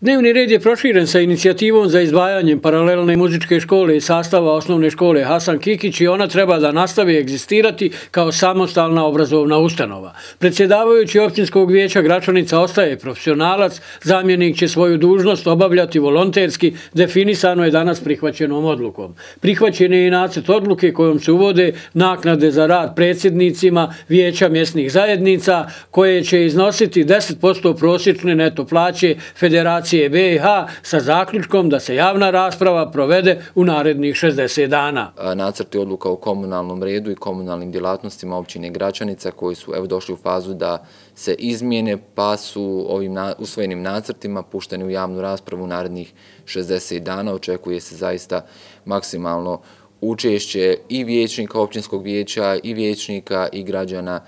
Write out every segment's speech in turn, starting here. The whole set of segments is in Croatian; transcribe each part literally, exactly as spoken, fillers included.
Dnevni red je proširen sa inicijativom za izdvajanjem paralelne muzičke škole iz sastava osnovne škole Hasan Kikić i ona treba da nastavi egzistirati kao samostalna obrazovna ustanova. Predsjedavajući općinskog vijeća Gračanica ostaje profesionalac, zamjenik će svoju dužnost obavljati volonterski, definisano je danas prihvaćenom odlukom. Prihvaćen je i nacrt odluke kojom se uvode naknade za rad predsjednicima vijeća mjesnih zajednica koje će iznositi deset posto prosječne neto plaće Federacije B i H sa zaključkom da se javna rasprava provede u narednih šezdeset dana. Nacrti odluka o komunalnom redu i komunalnim djelatnostima općine Gračanica koji su evo došli u fazu da se izmijene, pa su ovim usvojenim nacrtima pušteni u javnu raspravu u narednih šezdeset dana. Očekuje se zaista maksimalno učešće i vijećnika općinskog vijeća, i vijećnika, i građana,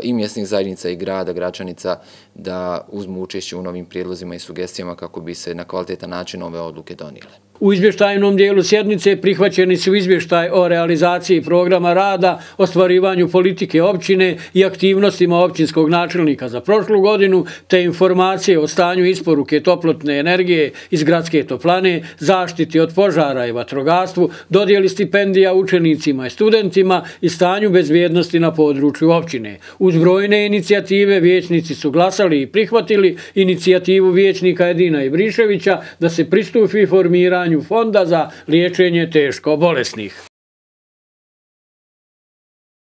i mjesnih zajednica i grada Gračanica da uzmu učešće u novim prijedlozima i sugestijama kako bi se na kvalitetan način ove odluke donijele. U izvještajnom dijelu sjednice prihvaćeni su izvještaj o realizaciji programa rada, ostvarivanju politike općine i aktivnostima općinskog načelnika za prošlu godinu, te informacije o stanju isporuke toplotne energije iz gradske toplane, zaštiti od požara i vatrogasstvu, dodjeli stipendija učenicima i studentima i stanju bezbjednosti na području općine. Uz brojne inicijative vijećnici su glasali i prihvatili inicijativu vijećnika Edina Ibriševića da se pristupi formiranju fonda za liječenje teško bolesnih.